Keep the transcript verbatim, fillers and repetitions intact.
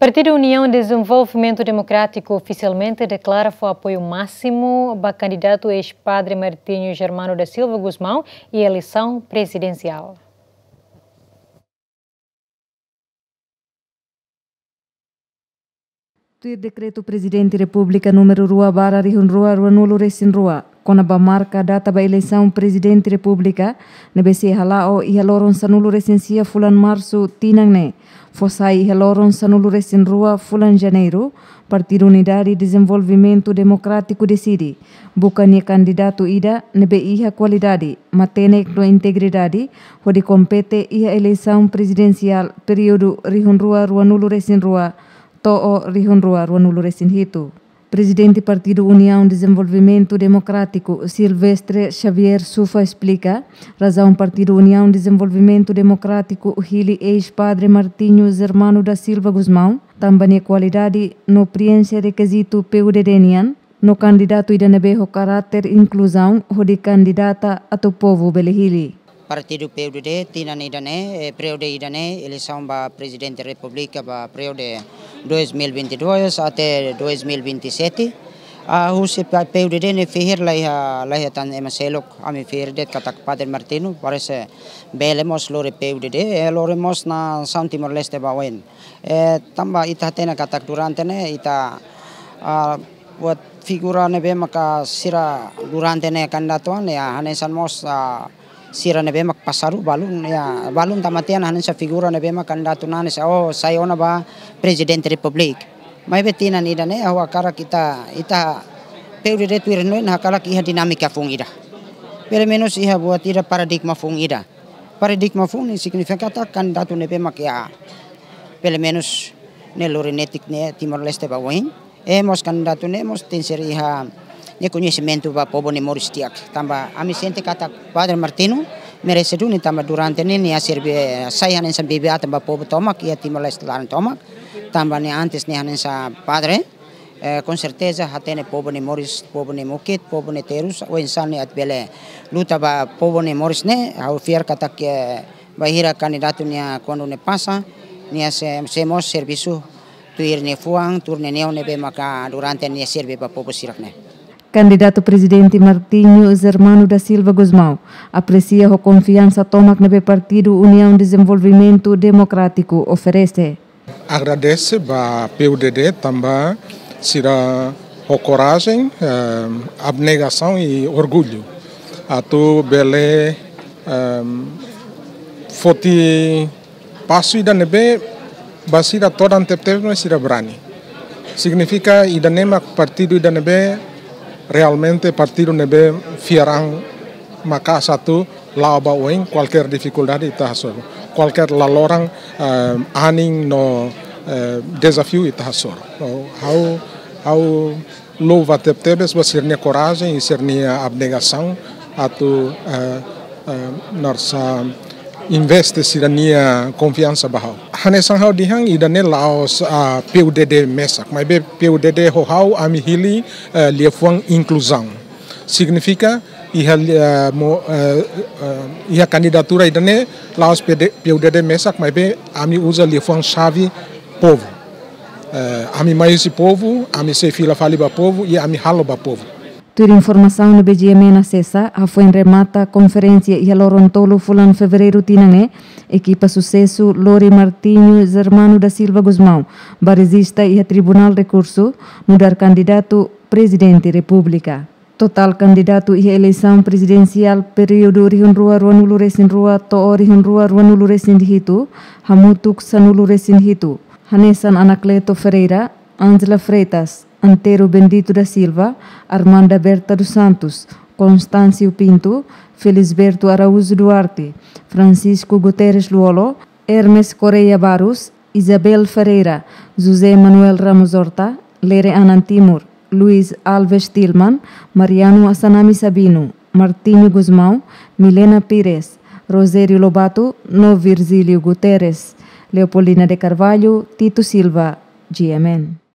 Partidu Uniaun Dezenvolvimentu Demokrátiku ofisialmente deklara fó apoiu másimu ba kandidatu eis-padre Martinho Germano da Silva Gusmão iha eleisaun prezidensiál. Tuir dekretu Prezidente Repúblika númeru rua barra rihun rua ruanulu resin rua, kona-ba marka data ba eleisaun Prezidente Repúblika, ne'ebé sei hala'o iha loron sanulu resin sia fulan Marsu tinan ne'e, fó sai iha loron sanulu resin rua fulan Janeiru, Partidu Unidade Dezenvolvimentu Demokrátiku deside buka nia kandidatu ida ne'ebé iha kualidade, matenek no integridade, hodi kompete iha eleisaun prezidensiál períodu rihun rua ruanulu resin rua to'o rihun rua ruanulu resin hitu. Prezidente Partidu Uniaun Dezenvolvimentu Demokrátiku, Silvestre Xavier Sufa esplika razaun Partidu Uniaun Dezenvolvimentu Demokrátiku hili eis-padre Martinho Germano da Silva Gusmão, tanba nia kualidade no prienxe rekizitu P U D D nian, no kandidatu ida ne'ebé ho karáter inkluzaun hodi kandidata atu povu bele hili. Partidu P U D D tinan ida-ne'e, eh, períodu ida-ne'e, eleisaun ba Prezidente Repúblika ba períodu dois mil e vinte e dois até dois mil e vinte e sete. Ah, husi pa-, P U D D ne'e fihir la iha, la iha tan ema seluk, ami fihir de'it katak Padre Martinho, parese bele mós lori P U D D, eh, lori mós nasaun Timor-Leste ba oin. Eh, tanba ita hatene katak durante ne'e ita, ah, buat figura ne'ebé maka sira durante ne'e kandidatu an, ya, hanesan mós, ah, sira ne'ebé mak pasadu balun, ya, balun tama tiha ona hanesan figura ne'ebé mak kandidatu nane sa, oh, sai ona ba Prezidente Repúblika. Maibé tinan ida-ne'e, ha'u hakarak ita, ita P U D D tuir hanoin hakarak iha dinámika foun ida. Pelumenus iha buat ida paradigma foun ida. Paradigma foun ne'e signifika katak kandidatu ne'ebé mak ya, pelumenus ne'e lori netik ne'e Timor-Leste ba oin. Eh, mós kandidatu ne'e mós tenke ser iha nia koñesimentu ba povu nia moris di'ak. Tanba ami sente katak Padre Martinho merese duni tanba durante ne'e nia serve, sai hanesan bibi-atan ba povu tomak, iha Timor-Leste laran tomak. Tanba nia antes nia hanesan padre, eh, com certeza hatene povu nia moris, povu nia mukit, povu nia terus, oinsá nia atu bele luta ba povu nia moris ne'e, ha'u fiar katak, eh, bainhira kandidatu nia kuandu nia pasa, nia sei, sei mós servisu tuir nia fuan, tuir nia neon ne'ebé maka durante nia serve ba povu sira-ne'e. Kandidatu Prezidente Martinho Germano da Silva Gusmão apresia ho konfiansa tomak ne'ebé Partidu Uniaun Dezenvolvimentu Demokrátiku oferese. Agradese ba P U D D tanba sira ho korajen, eh, abnegasaun i orgullu atu bele, eh, foti pasu ida ne'ebé ba sira todan tebetebes, mas sira brani. Signifika ida-ne'e mak partidu ida ne'ebé realmente partidu ne'ebé fiar an maka'as atu la'o ba oin kualkér difikuldade ita hasoru, kualkér laloran, eh, anin no, eh, dezafiu ita hasoru. No, ha'u, ha'u louva tebetebes ba sira-nia korajen i sira-nia abnegasaun atu, eh, eh, na'in-rua investe sira-nia konfiansa ba ha'u. Hanesan ha'u dehan ida-ne'e la'ós, ah, P U D D mesak, maibé P U D D ho ha'u ami hili, eh, liafuan inkluzaun. Signifika iha, eh, mo-, eh, eh, iha kandidatura ida-ne'e la'ós P D, P U D D mesak, maibé ami uza liafuan xave povu. Eh, ami mai husi povu, ami sei fila fali ba povu, i ami halo ba povu. Tuir informasaun ne'ebé GMN asesa, hafoin remata konferénsia iha loron tolu fulan Fevereiru tinan ne'e, ekipa susesu lori Martinho Germano da Silva Gusmão ba rejista iha Tribunál Rekursu, nu'udar kandidatu Prezidente Repúblika. Totál kandidatu iha eleisaun prezidensiál períodu rihun rua ruanulu resin rua to'o rihun rua ruanulu resin hitu, hamutuk sanulu resin hitu. Hanesan Anacleto Ferreira, Ângela Freitas, Antero Bendito da Silva, Armanda Berta dos Santos, Constâncio Pinto, Felisberto Araújo Duarte, Francisco Guterres Lú-Olo, Hermes Correia Barros, Isabel Ferreira, José Manuel Ramos Horta, Lere Anan Timur, Luís Alves Tilman, Mariano Assanami Sabino, Martinho Gusmão, Milena Pires, Rogério Lobato, no Virgílio Guterres. Leopoldina de Carvalho, Tito Silva, GMN.